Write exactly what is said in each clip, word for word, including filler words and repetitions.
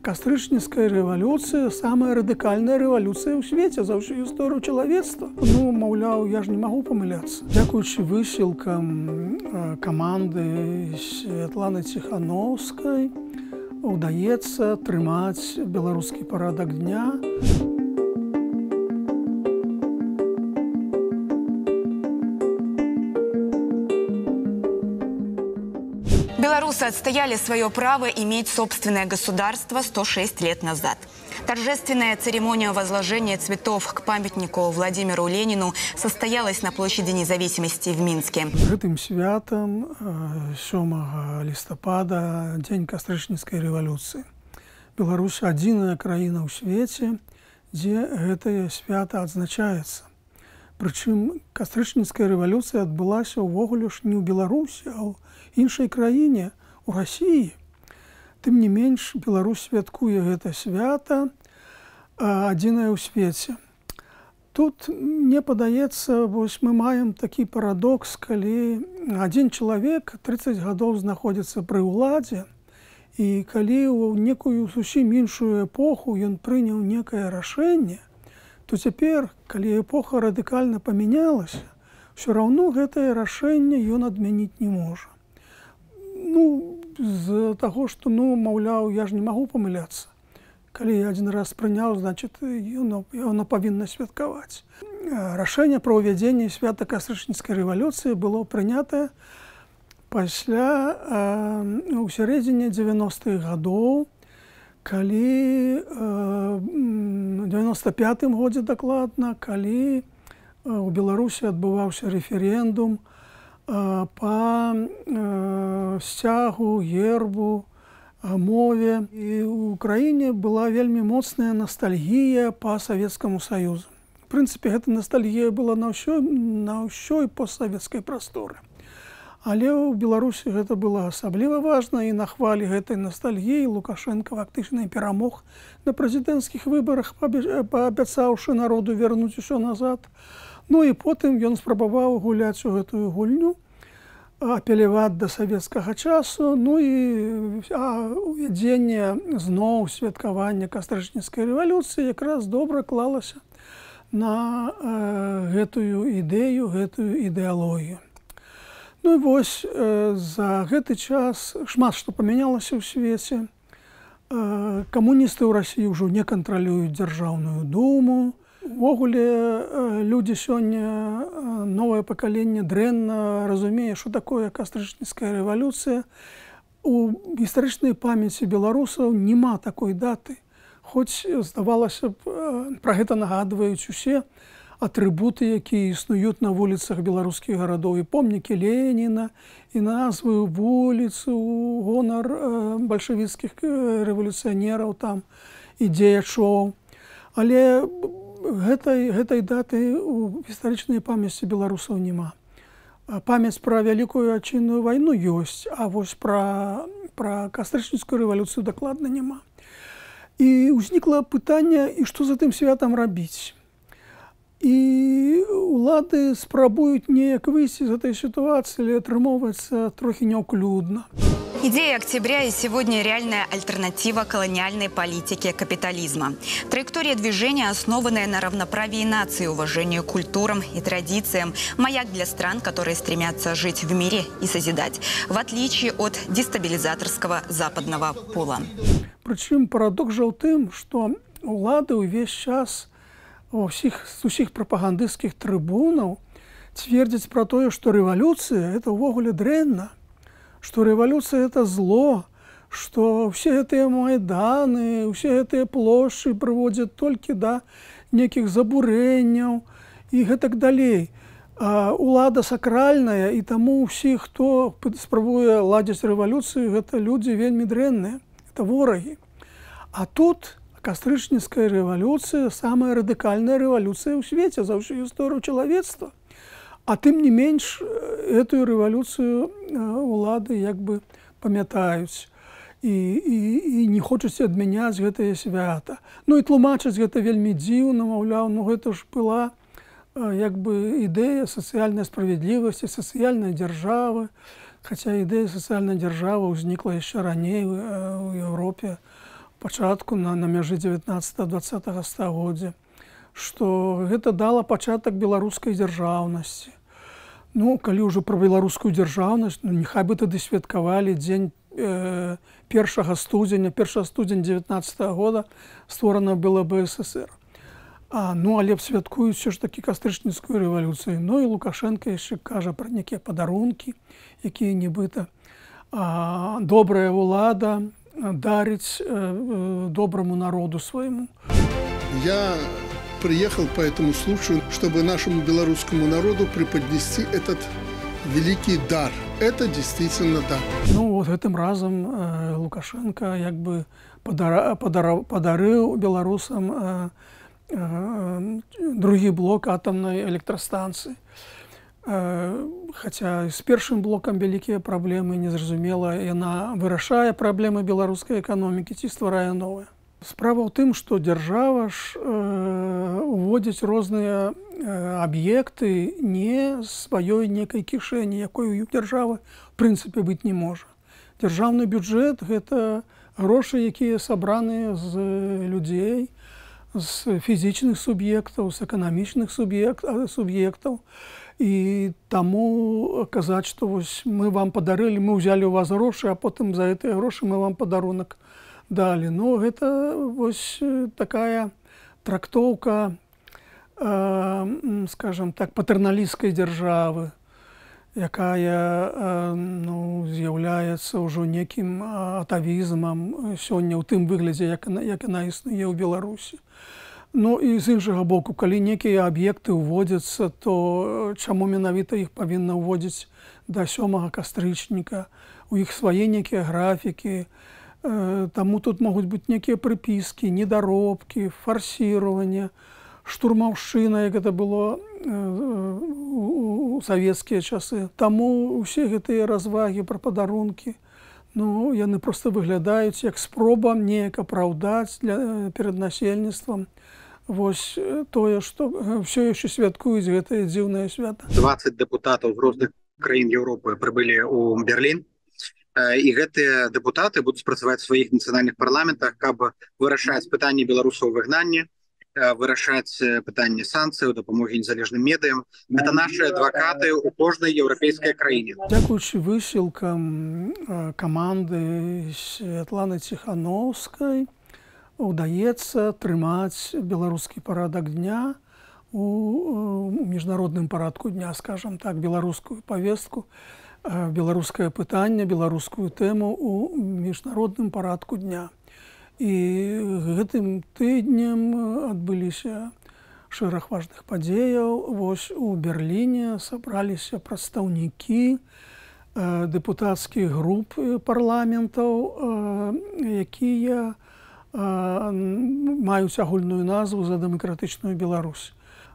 Кастрычніцкая рэвалюцыя самая радыкальная рэвалюцыя ў свеце за ўсю гісторыю чалавецтва. Ну, маўляў, я ж не магу памыляцца. Дзякуючы высілкам каманды Святланы Ціхановскай удаецца трымаць беларускі парадак дня. Белорусы отстояли свое право иметь собственное государство сто шесть лет назад. Торжественная церемония возложения цветов к памятнику Владимиру Ленину состоялась на площади Независимости в Минске. Гэтым святам сёмага лістапада дзень кастрычніцкай рэвалюцыі. Беларусь адзіная краіна ў свеце, дзе гэтае свята адзначаецца. Прычым кастрычніцкая рэвалюцыя адбылася ўвогуле ж не ў Беларусі, а ў іншай краіне, у Расіі. Тым не менш, Беларусь святкуе гэта свята адзінае ў свеце. Тут, мне падаецца, вось мы маем такі парадокс, калі адзін чалавек трыццаць гадоў знаходзіцца пры ўладзе, і калі ў некую зусім іншую эпоху ён прыняў некае рашэнне, то цяпер, калі эпоха радыкальна памянялася, ўсё раўно гэтае рашэнне ён адмяніць не можа. Ну, з таго, што, ну, маўляў, я ж не магу памыляцца. Калі я адзін раз прыняў, значит, яно, яно павінна святкаваць. Рашэнне пра ўвядзенне свята кастрычніцкай рэвалюцыі было прынятае пасля ў сярэдзіне дзевяностых гадоў, калі у дзевяноста пятым годзе дакладна, калі у Беларусі адбываўся рэферэндум па сцягу, гербу, мове. І ў краіне была вельмі моцная ностальгія па Савецкаму Саюзу. В прынцыпе, гэта ностальгія была на ўсёй, на ўсёй постсавецкай прасторы. Але ў Беларусі гэта было асабліва важна, і на хвалі гэтай ностальгіі Лукашенко фактычна перамог на прэзідэнцкіх выбарах, паабяцаўшы народу вярнуць усё назад. Ну і потым ён спрабаваў гуляць у гэтую гульню, апеляваць да савецкага часу, ну і увядзенне зноў святкавання кастрычніцкай рэвалюцыі якраз добра клалася на гэтую ідэю, гэтую ідэалогію. Ну і вось за гэты час шмат што памянялася ў свеце. Камуністы ў Расіі ўжо не кантралююць дзяржаўную думу. Увогуле людзі сёння, новае пакаленне дрэнна разумее, што такое кастрычніцкая рэвалюцыя. У гістарычнай памяці беларусаў няма такой даты. Хоць, здавалася б, пра гэта нагадваюць усе атрыбуты, якія існуюць на вуліцах беларускіх гарадоў, і помнікі Леніна, і назвы вуліц у гонар бальшавіцкіх рэвалюцыянераў там і дзеячоў. Але гэтай, гэтай даты ў гістарычнай памяці беларусаў няма. Памяць пра Вялікую Адчынную вайну ёсць, а вось пра, пра кастрычніцкую рэвалюцыю дакладна няма. І ўзнікла пытанне, і што за тым святам рабіць? І улады спрабуюць неяк выйсці з этой ситуации, але атрымоўваецца трохі няўклюдна. Идея октября и сегодня реальная альтернатива колониальной политике капитализма. Траектория движения, основанная на равноправии наций, уважении к культурам и традициям, маяк для стран, которые стремятся жить в мире и созидать, в отличие от дестабилизаторского западного пола. Причем парадокс жа ў тым, што улады ўвесь час у всіх, з усіх прапагандысцкіх трыбунаў цвердзяць пра тое, што рэвалюцыя – это ўвогуле дрэнна, што рэвалюцыя – это зло, што ўсе гэтыя майданы, ўсе гэтыя плошчы прыводзяць толькі да нейкіх забурэнняў і гэтак далей. А улада сакральная, і таму ўсіх, хто спрабуе ладзіць рэвалюцыю, гэта людзі вельмі дрэнныя, это ворагі. А тут кастрычніцкая рэвалюцыя – самая радыкальная рэвалюцыя ў свеце за ўсю гісторыю чалавецтва. А тым не менш, эту рэвалюцыю улады як бы памятаюць і, і, і не хочуць адмяняць гэтае свята. Ну і тлумачаць гэта вельмі дзіўна, маўляў, ну гэта ж была як бы ідэя сацыяльнай справядлівасці, сацыяльнай дзяржавы, хаця ідэя сацыяльнай дзяржавы ўзнікла яшчэ раней у Еўропе, пачатку на, на мяжы дзевятнаццатага-дваццатага стагоддзя, што гэта дала пачатак беларускай дзяржаўнасці. Ну, калі ўжо пра беларускую дзяржаўнасць, ну, няхай бы тады святкавалі дзень э, першага студзеня, першага студзеня дзевятнаццатага года створана была бэ эс эс эр. А, ну, але б святкуюць все ж такі кастрычніцкую рэвалюцыю. Ну і Лукашенко яшчэ кажа пра нейкія падарункі, якія нібыта а, добрая ўлада даріць э, добраму народу свайму. Я приехал по этому случаю, чтобы нашему белорусскому народу преподнести этот великий дар. Это действительно дар. Ну, вот гэтым разам э, Лукашенко як бы падара, падара, падарыў беларусам э, другі блок атомнай электрастанцыі. Хаця з першым блокам вялікія праблемы, незразумела, яна вырашае праблемы беларускай эканомікі ці стварае новыя. Справа ў тым, што дзяржава ж уводзіць розныя аб'екты не сваёй некай кішэні, якой у дзяржавы в прынцыпе быць не можа. Дзяржаўны бюджэт гэта грошы, якія сабраныя з людзей, з фізічных суб'ектаў, з эканамічных суб'ектаў. І таму казаць, што вось мы вам падарылі, мы ўзялі ў вас грошы, а потым за гэтыя грошы мы вам падарунак далі. Ну, гэта вось такая трактоўка, э, скажам так, патэрналісцкай дзяржавы, якая ну, з'яўляецца ўжо некім атавізмам сёння ў тым выглядзе, як, як яна існуе ў Беларусі. Ну і з іншага боку, калі некія аб'екты ўводзяцца, то чаму менавіта іх павінна ўводзіць да сёмага кастрычніка, у іх свае некія графікі, таму тут могуць быць некія прыпіскі, недаробкі, фарсіраванне, штурмаўшчына, як гэта было у савецкія часы. Таму ўсе гэтыя развагі пра падарункі, ну, яны проста выглядаюць як спроба неяк апраўдаць для, перад насельніцтвам вось тое, што ўсё яшчэ святкуюць гэтае дзіўнае свята. дваццаць дэпутатаў з розных краін Еўропы прыбылі ў Берлін. І гэтыя дэпутаты будуць працаваць у сваіх нацыянальных парламентах, каб вырашаць пытанні беларусаў у выгнанні, вырашаць пытанні санкцыяў, дапамогі незалежным медыям. Гэта нашы адвакаты ў кожнай еўрапейскай краіне. Дзякуючы высілкам каманды Святланы Ціхановскай удаецца трымаць беларускі парадак дня у міжнародным парадку дня, скажам так, беларускую павестку, беларускае пытанне, беларускую тэму у міжнародным парадку дня. І гэтым тыднем адбыліся шэраг важных падзеяў. Вось у Берліне сабраліся прадстаўнікі дэпутацкіх груп парламентаў, якія маюць агульную назву «За дэмакратычную Беларусь».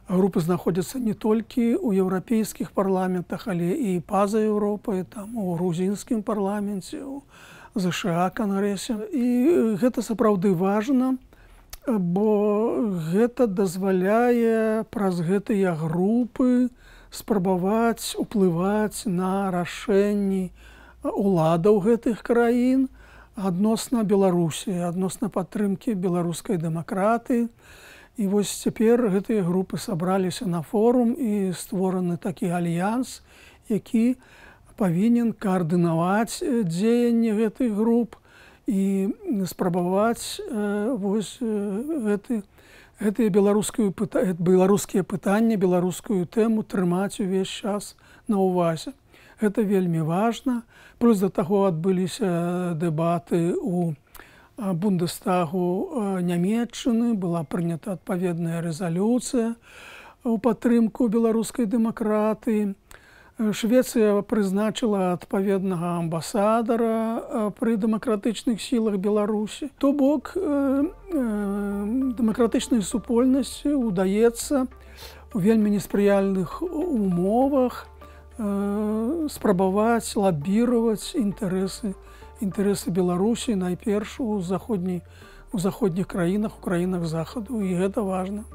Групы знаходзяцца не толькі ў еўрапейскіх парламентах, але і па-за Еўропай, там у грузінскім парламенце, у ЗША кангрэсе. І гэта сапраўды важна, бо гэта дазваляе праз гэтыя групы спрабаваць уплываць на рашэнні уладаў гэтых краін адносна Беларусі, адносна падтрымкі беларускай дэмакратыі. І вось цяпер гэтыя групы сабраліся на форум і створаны такі альянс, які павінен каардынаваць дзеянне гэтых груп і спрабаваць вось гэты, гэтыя беларускія пытанні, беларускую тэму трымаць увесь час на ўвазе. Гэта вельмі важна. Плюс да таго адбыліся дэбаты ў Бундестагу Нямецчыны, была прынята адпаведная рэзалюцыя ў падтрымку беларускай дэмакратыі. Швецыя прызначыла адпаведнага амбасадара пры дэмакратычных сілах Беларусі. То бок дэмакратычнай супольнасці ўдаецца у вельмі неспрыяльных умовах спрабаваць лабіраваць інтарэсы інтарэсы Беларусі найперш у заходніх краінах, у краінах захаду, і гэта важна.